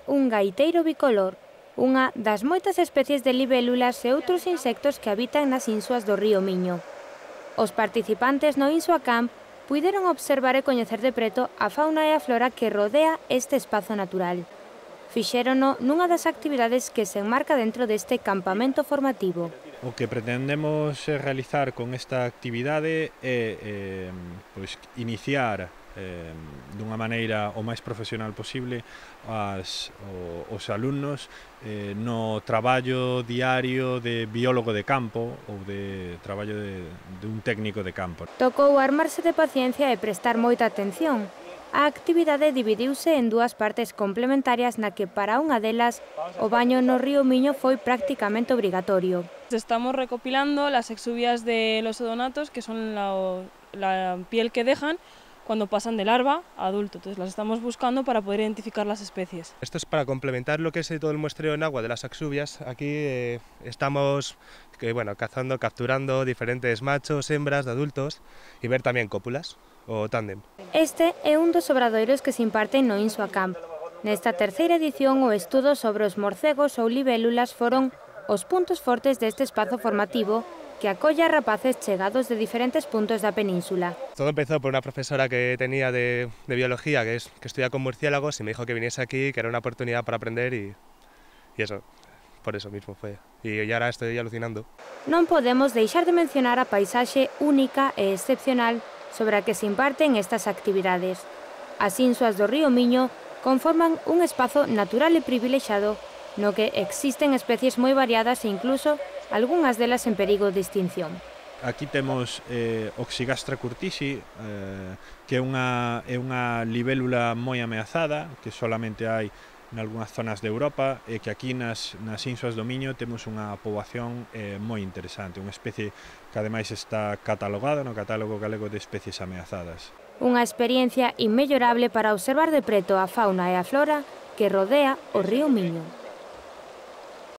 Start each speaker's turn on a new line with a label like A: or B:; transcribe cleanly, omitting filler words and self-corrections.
A: un gaiteiro bicolor, unha das moitas especies de libélulas e outros insectos que habitan nas insuas do río Miño. Os participantes no Insua Camp puideron observar e coñecer de preto a fauna e a flora que rodea este espazo natural. Fixérono nunha das actividades que se enmarca dentro deste campamento formativo.
B: O que pretendemos realizar con esta actividade é iniciar dunha maneira o máis profesional posible os alumnos no traballo diario de biólogo de campo ou de traballo de un técnico de campo.
A: Tocou armarse de paciencia e prestar moita atención. A actividade dividiuse en dúas partes complementarias na que para unha delas o baño no río Miño foi prácticamente obrigatorio.
C: Estamos recopilando las exuvias de los odonatos, que son la piel que dejan cuando pasan de larva a adulto. Entonces las estamos buscando para poder identificar las especies.
D: Esto es para complementar lo que es todo el muestreo en agua de las exuvias. Aquí estamos cazando, capturando diferentes machos, hembras de adultos y ver también cópulas o tándem.
A: Este é un dos obradoiros que se imparten no Insua Camp. Nesta terceira edición, o estudo sobre os morcegos ou libélulas foron os puntos fortes deste espazo formativo que acolle a rapaces chegados de diferentes puntos da península.
D: Todo empezó por una profesora que tenía de biología, que estudia con murciélagos, y me dijo que viniese aquí, que era una oportunidad para aprender y eso, por eso mismo fue. Y ahora estoy alucinando.
A: Non podemos deixar de mencionar a paisaxe única e excepcional sobre a que se imparten estas actividades. As insuas do río Miño conforman un espazo natural e privilexado no que existen especies moi variadas e incluso algunhas delas en perigo de extinción.
B: Aquí temos Oxygastra curtisi, que é unha libélula moi ameazada, que solamente hai nalgúnas zonas de Europa, e que aquí nas insuas do Miño temos unha poboación moi interesante, unha especie que ademais está catalogada no Catálogo Galego de Especies Ameazadas.
A: Unha experiencia inmellorable para observar de preto a fauna e a flora que rodea o río Miño.